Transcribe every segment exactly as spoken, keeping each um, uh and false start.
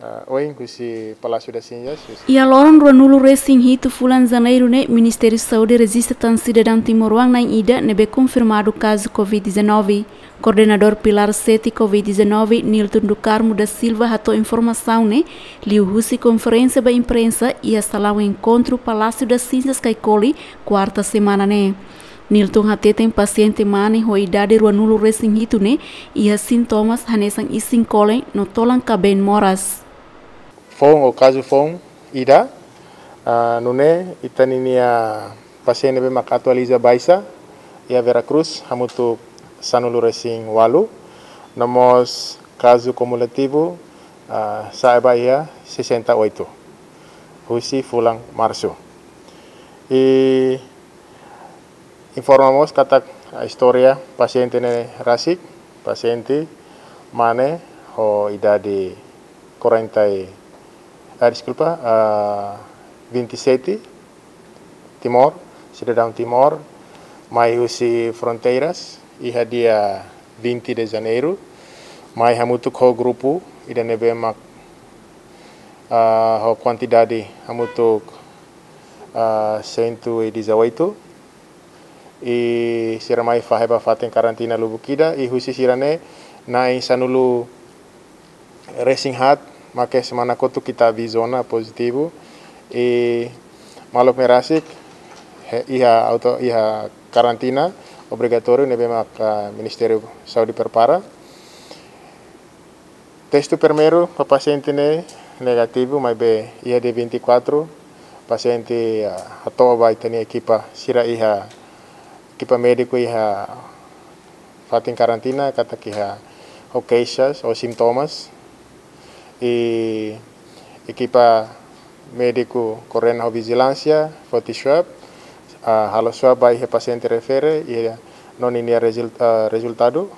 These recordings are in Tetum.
Ah, ohin husi Palácio das Cinzas, husi Iha loron ruanulu resin hitu fulan Janeiru ne'e, Ministériu Saúde rejista tan sidadaun timoroan na'in ida ne'ebé konfirmadu kazu covid dezanove. Koordenadór Pilar sete covid dezanove, Nilton do Carmo da Silva, hato'o informasaun ne'e liuhusi konferénsia ba imprensa iha salaun enkontru Palácio das Cinzas, Caicoli, kuarta semana ne'e. Nilton hateten pasiente mane ho idade ruanulu resin hitu ne'e iha sintomas hanesan isin-kolen no tolan-kabeen moras. Foun ou kazu foun ida, ah, nune'e ita-ninia pasiente ne'ebé mak atualiza baixa iha Vera Cruz hamutuk sanulu resin ualu, no mós kazu kumulativu, ah, sa'e ba iha sessenta e oito husi fulan Marsu. I informa mós katak istória pasiente ne'e rasik, pasiente mane ho idade quarenta e, ah, deskulpa, ah, vinte e sete, Timor, sidadaun Timor, mai husi fronteiras iha dia vinte de Janeiru, mai hamutuk ho grupu ida ne'ebé mak, ah, ho kuantidade hamutuk, ah, cento e dezoito, i sira mai fahe ba fatin karantina lubuk ida, i husi sira-ne'e na'in sanulu resin haat mak iha semana kotuk ita bi zona pozitivu, i maluk ne'e rasik he-, iha auto, iha karantina obrigatóriu ne'ebé mak, ah, Ministériu Saúde prepara. Testu primeiru ba pasiente ne'e negativu, maibé iha dia vinte e quatro pasiente, ah, hato'o ba ita-nia ekipa sira iha, ekipa médiku iha fatin karantina katak iha ho keixas ou sintomas. I ekipa médiku koordena ho vijilánsia foti swab, ah, halo swab ba iha pasiente refere, i no ninia rezul-, ah, rezultadu,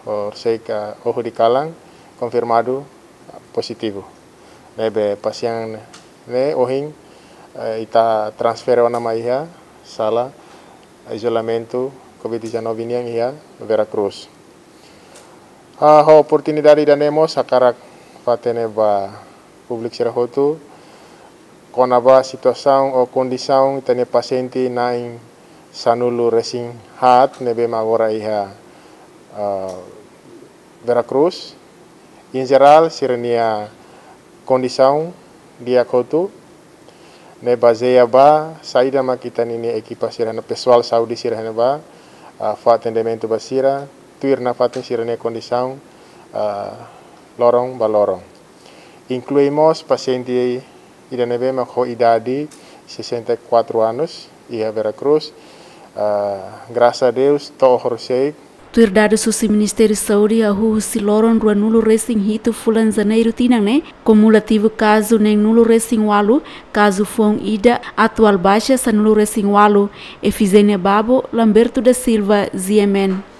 horiseik, ah, oho di kalan, konfirmadu, ah, pozitivu. Ne'ebé pasiente ne'e ohin, eh, ita transfere ona mai iha sala izolamentu covid dezanove nian iha Vera Cruz. Ah, ho oportunidade ida-ne'e mós hakarak fó-hatene ba públiku sira hotu kona-ba situasaun ou kondisaun ita-nia pasiente na'in sanulu resin haat ne'ebé mak agora iha, ah, Vera Cruz. Em jerál, sira-nia kondisaun di'ak hotu, ne'e bazeia ba saida mak ita-ninia ekipa sira no pesoál saúde sira-ne'e ba, ah, fó atendimentu ba sira, tuir nafatin sira-nia kondisaun, ah, loron ba loron. Inklui mós pasiente ida ne'ebé mak ho idade sessenta e quatro anos, iha Vera Cruz. Ah, grasas a Deus, to'o horiseik. Tuir dadus husi Ministériu Saúde, hahú husi loron ruanulu resin hitu fulan Janeiru tinan ne'e, kumulativu kazu neenulu resin ualu, kazu foun ida, atuál baixa sanulu resin ualu. Efigénia Babo, Lamberto da Silva, G M N.